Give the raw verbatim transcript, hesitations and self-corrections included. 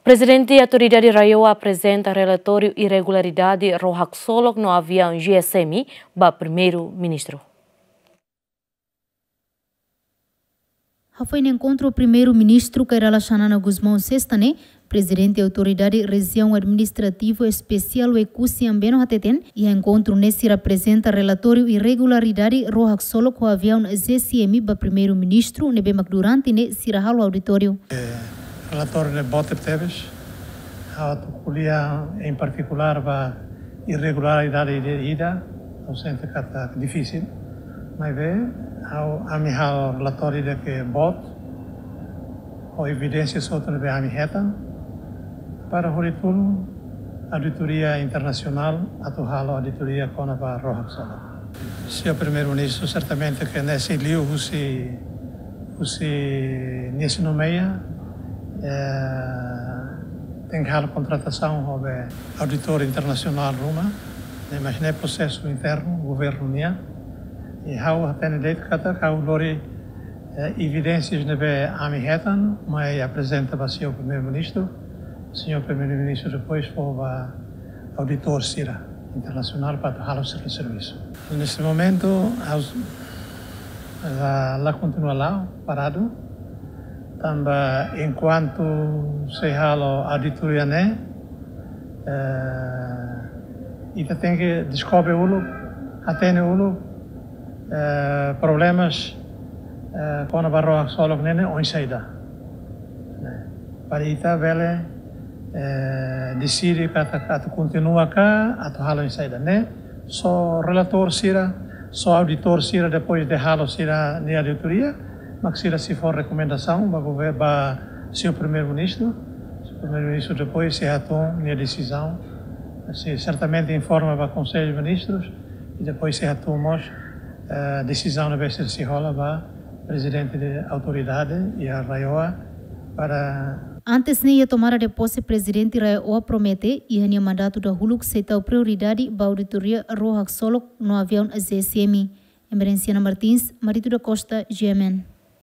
Prezidente Autoridade RAEOA aprezenta relatóriu irregularidade ró haksolok no aviaun G S M ba Primeiru-Ministru. Hafoin enkontru Primeiru-Ministru Kay Rala Xanana Gusmão sesta ne'e, Prezidente Autoridade Rejiaun Administrativa Espesiál Oekusi Ambeno hateten, iha enkontru ne'e sira aprezenta relatóriu irregularidade ró haksolok ho aviaun G S M ba Primeiru-Ministru ne'ebé mak durante ne'e sira halo auditóriu. Relatóriu ne'e boot tebes. Ha'u atu ko'alia em particular ba irregularidade ida-ida, ha'u sente katak difisil. Maibé, ha'u, ami halo relatóriu ida ke boot, ho evidénsia hotu ne'ebé ami hetan, para hodi tulun auditoria internasionál atu halo auditoria kona-ba ró haksolok. Señór Primeiru-Ministru, sertamente ke ne'e sei liu husi, husi nia sei nomeia, eh, tenke halo kontratasaun ho be auditór internasionál ruma, ne'e, mas ne'e prosesu internu governu nian. I ha'u hatene de'it katak ha'u lori, eh, evidénsias ne'ebé ami hetan, mai aprezenta ba señór Primeiru-Ministru. Señór Primeiru-Ministru depois fó ba auditór sira internasionál para atu halo sira servisu. Neste momento, ha'u la, la kontinua la'o, paradu. Tanba enkuantu sei halo auditoria ne'e, eh, ita tenke deskobre uluk, hatene uluk, eh, problemas, eh, kona-ba ró haksolok ne'e, ne'e oinsá ida. Ne'e. Para ita bele, eh, deside katak atu kontinua ka, atu halo oinsá ida. Ne'e, só relatór sira, só auditór sira, depois de halo sira-nia auditoria, mak sira sei fó rekomendasaun ba gover-, ba señór Primeiru-Ministru. Señór Primeiru-Ministru depois sei hatún nia desizaun. Sei sertamente informa ba Konsellu Ministrus, i depois sei hatún mós, eh, desizaun ne'ebé sira sei hola ba Prezidente de Autoridade iha RAEOA para. Antes ne'e iha tomada de posse, Prezidente RAEOA promete, iha nia mandatu dahuluk sei tau prioridade ba auditoria ró haksolok no aviaun G S M. Emerenciana Martins, Marito da Costa, G M N.